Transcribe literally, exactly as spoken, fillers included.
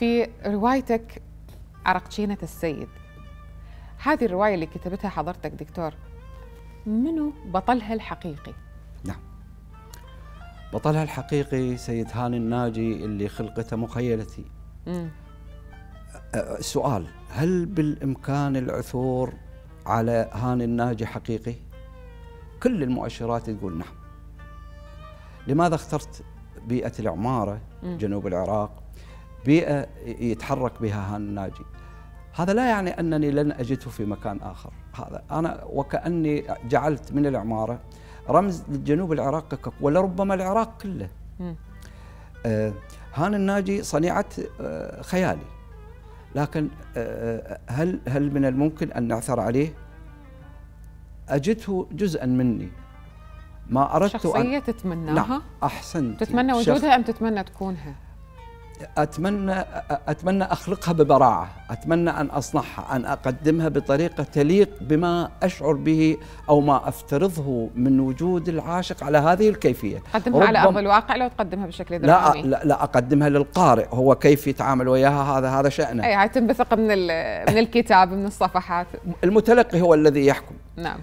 في روايتك عرقجينة السيد، هذه الرواية اللي كتبتها حضرتك دكتور، منو بطلها الحقيقي؟ نعم، بطلها الحقيقي سيد هاني الناجي اللي خلقته مخيلتي. مم. السؤال: هل بالإمكان العثور على هاني الناجي حقيقي؟ كل المؤشرات تقول نعم. لماذا اخترت بيئة العمارة جنوب العراق، بيئة يتحرك بها هاني الناجي؟ هذا لا يعني أنني لن أجده في مكان آخر، هذا أنا وكأني جعلت من العمارة رمز للجنوب العراقي ولربما العراق كله. آه هاني الناجي صنيعة آه خيالي، لكن آه هل هل من الممكن أن نعثر عليه؟ أجده جزءا مني، ما أردت شخصية أن تتمناها؟ نعم أحسنت. تتمنى وجودها أم تتمنى تكونها؟ أتمنى أتمنى أخلقها ببراعة، أتمنى أن أصنعها، أن أقدمها بطريقة تليق بما أشعر به أو ما أفترضه من وجود العاشق على هذه الكيفية. تقدمها على أرض الواقع لو تقدمها بشكل درامي؟ لا لا, لا أقدمها للقارئ، هو كيف يتعامل وياها هذا هذا شأنه. أي هاي تنبثق من من الكتاب، من الصفحات. المتلقي هو الذي يحكم. نعم.